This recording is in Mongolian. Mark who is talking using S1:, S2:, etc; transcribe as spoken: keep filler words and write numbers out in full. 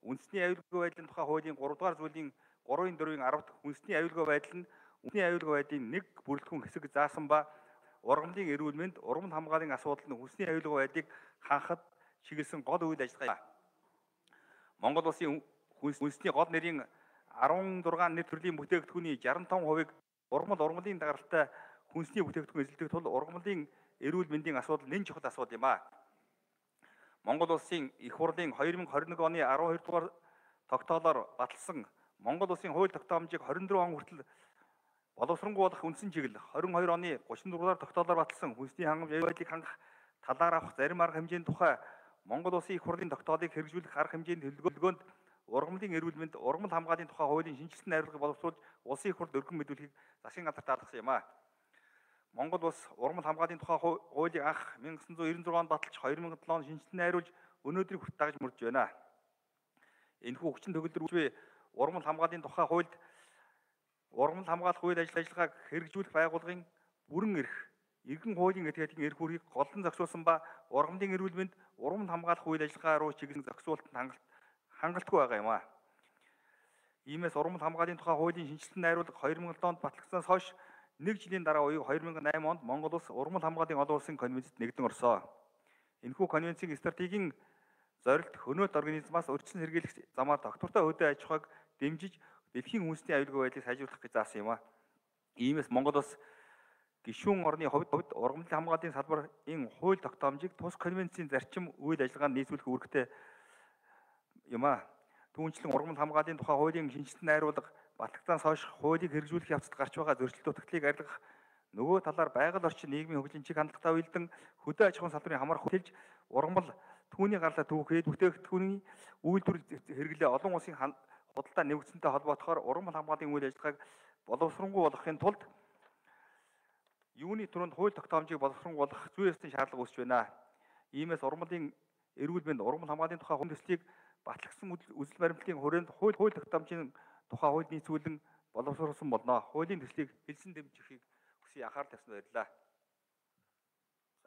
S1: үндэсний аюулгүй байдлын тухай хуулийн гурав дугаар зүйлийн гурвын дөрвийн арав дахь үндэсний аюулгүй байдал нь үндэсний аюулгүй байдлын нэг бүрэлдэхүүн хэсэг заасан ба ургамлын эрүүл мэнд, ургамал хамгааллын асуудал нь хүнсний аюулгүй байдлыг хангахад чиглэсэн гол үйл ажиллагаа. Монгол улсын үндэсний гол нэрийн арван зургаан нэр төрлийн бүтээгдэхүүний шестьдесят пять хувийг ургамал ургамлын дагаралтай хүнсний бүтээгдэхүүн эзэлдэг тул ургамлын эрүүл мэндийн асуудал нэн чухал асуудал юм а. Монгол улсын их хурлын две тысячи двадцать один оны twelve дугаар тогтоолоор баталсан Монгол улсын хууль тогтоомжийг twenty four он хүртэл боловсронгуй болох үндсэн чиглэл twenty-two оны thirty-four дугаар тогтоолоор баталсан хүнсний хангамж байдлыг хангах талаар авах зарим арга хэмжээний тухай Монгол улсын их хурлын тогтоолыг хэрэгжүүлэх арга хэмжээний төлөвлөгөөнд ургамлын эрүүл мэнд, ургамал хамгааллын тухай хуулийн шинжилсэн найруулгыг боловсруулж улсын их хурлд өргөн мэдүүлэхийг засгийн газар даатгасан юм а. Монгол улс ургамал хамгааллын тухай хуулийг анх nineteen ninety-six онд баталж two thousand seven онд шинжилсэн найруулж өнөөдрийг хүртэл дагаж мөрдөж байна. Энэхүү хүчин төгөлдөр үгүй ургамал хамгааллын тухай хуульд ургамал хамгаалах үйл ажиллагааг хэрэгжүүлэх байгууллагын бүрэн эрх, иргэн хуулийн этгээдийн эрх үүргийг голлон зохицуулсан ба ургамлын эрүүл мэнд, ургамал хамгаалах үйл ажиллагаа руу чиглэсэн зохицуулалтанд хангалт хангалтгүй байгаа юм а. Иймээс ургамал хамгааллын тухай хуулийн шинжилсэн найруулга two thousand seven онд батлагдсанаас хойш нэг жилийн дараа буюу two thousand eight онд Монгол улс ургамал хамгааллын олон улсын конвенцэд нэгдэн орсон. Энэхүү конвенцийн стратегийн зорилт хөнөөт организмаас өрчлөн сэргийлэх замаар доктортой хөдөө аж ахуйг дэмжиж дэлхийн үндэсний аюулгүй байдлыг сайжруулах гэж заасан юм а. Иймээс Монгол улс гишүүн орны хувьд ургамлын хамгааллын салбарын хууль тогтоомжийг тус конвенцийн зарчим үйл ажиллагаанд нийцүүлэх үүрэгтэй юм а. Түүнчлэн ургамал хамгааллын тухай хуулийн шинжилсэн найруулга батлагдсанаас хойш хуулийг хэрэгжүүлэх явцад гарч байгаа зөрчил дутагдлыг арилгах, нөгөө талаар байгаль орчин нийгмийн хөгжлийн чиг хандлагатай уялдан хөдөө аж ахуйн салбарын хамаар хөтөлж ургамал түүний гарлаа түүхэд бүтээгдэхүүний үйлдвэр хэрэглээ олон улсын худалдаа нэгдсэнтэй холбоотохоор ургамал хамгааллын үйл ажиллагааг боловсронгуй болгохын тулд юуны түрүүнд хууль тогтоомжийг боловсронгуй болгох зүй ёсны шаардлага үүсэж байна. Иймээс ургамлын эрүүл мэнд, ургамал хамгааллын тухай хүнд төслийг батлагдсан үзэл баримтлалын хүрээнд хууль хууль тогтоомжийн тухай хууль нийцүүлэн боловсруулсан болно. Хуулийн төслийг хэлсэн дэмжихийг хүсье, анхаарал тавьсан баярлалаа.